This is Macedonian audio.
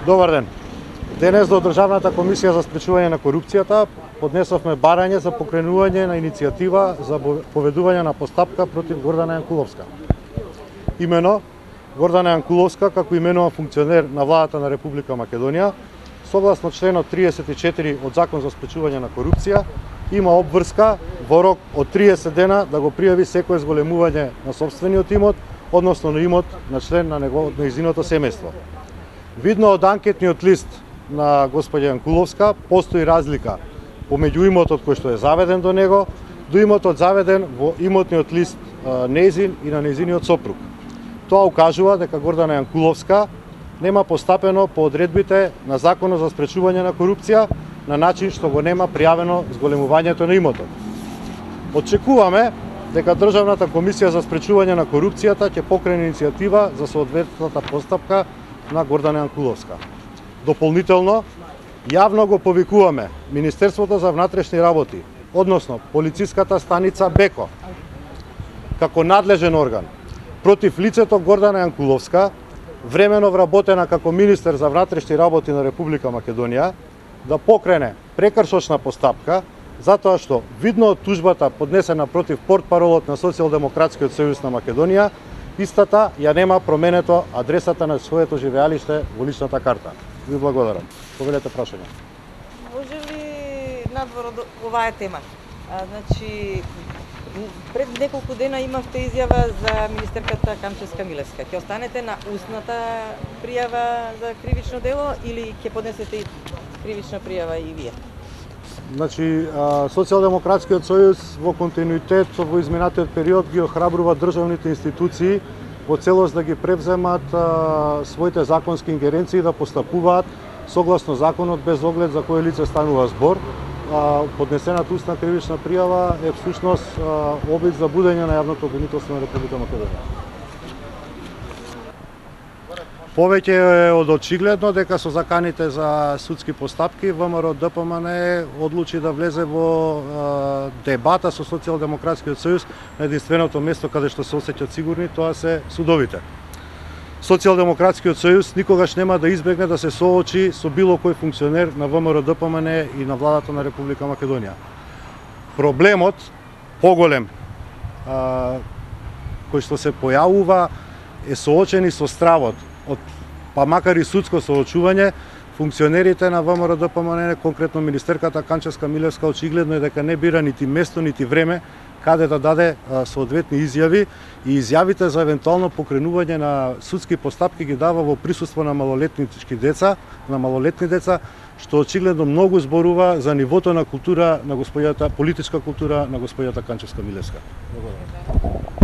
Добар ден. Денес до Државната комисија за спречување на корупцијата поднесовме барање за покренување на иницијатива за поведување на постапка против Гордана Јанкуловска. Имено, Гордана Јанкуловска, како именуван функционер на владата на Република Македонија, согласно членот 34 од Закон за спречување на корупција, има обврска во рок од 30 дена да го пријави секое зголемување на сопствениот имот, односно на имот на член на нејзиното семејство. Видно од анкетниот лист на господја Јанкуловска, постои разлика помеѓу имотот кој што е заведен до него, до имотот заведен во имотниот лист нејзин и на нејзиниот сопруг. Тоа укажува дека Гордана Јанкуловска нема постапено по одредбите на Законот за спречување на корупција на начин што го нема пријавено зголемувањето на имотот. Очекуваме дека Државната комисија за спречување на корупцијата ќе покрене иницијатива за соодветната постапка на Гордана Јанкуловска. Дополнително, јавно го повикуваме Министерството за внатрешни работи, односно полициската станица Беко, како надлежен орган против лицето Гордана Јанкуловска, времено вработена како министер за внатрешни работи на Република Македонија, да покрене прекршочна постапка затоа што видно од тужбата поднесена против портпаролот на Социјалдемократскиот сојуз на Македонија, истата ја нема променето адресата на своето живеалиште во личната карта. Ви благодарам. Повелете прашање. Може ли надвор од оваа тема? Значи, пред неколку дена имавте изјава за министерката Канчевска Милевска. Ќе останете на устната пријава за кривично дело или ќе поднесете и кривична пријава и вие? Значи, Социјалдемократскиот сојуз во континуитет во изминатиот период ги охрабрува државните институции во целост да ги превземат своите законски ингеренции да постапуваат согласно законот без оглед за кое лице станува збор. Поднесената устна кривична пријава е всушност обид за будење на јавното обвинителство на Република Македонија. Повеќе е од очигледно дека со заканите за судски постапки ВМРО ДПМН одлучи да влезе во дебата со Социјалдемократскиот сојуз на единственото место каде што се осеќаат сигурни, тоа се судовите. Социјалдемократскиот сојуз никогаш нема да избегне да се соочи со било кој функционер на ВМРО ДПМН и на владата на Република Македонија. Проблемот поголем кој што се појавува е соочени со стравот од, па макар и судско соочување, функционерите на ВМРО ДПМН, конкретно министерката Канчевска Милевска, очигледно е дека не бира нити место, нити време каде да даде соодветни изјави и изјавите за евентуално покренување на судски постапки ги дава во присуство на малолетнички деца, на малолетни деца, што очигледно многу зборува за нивото на култура на политичка култура на господјата Канчевска Милевска. Благодарам.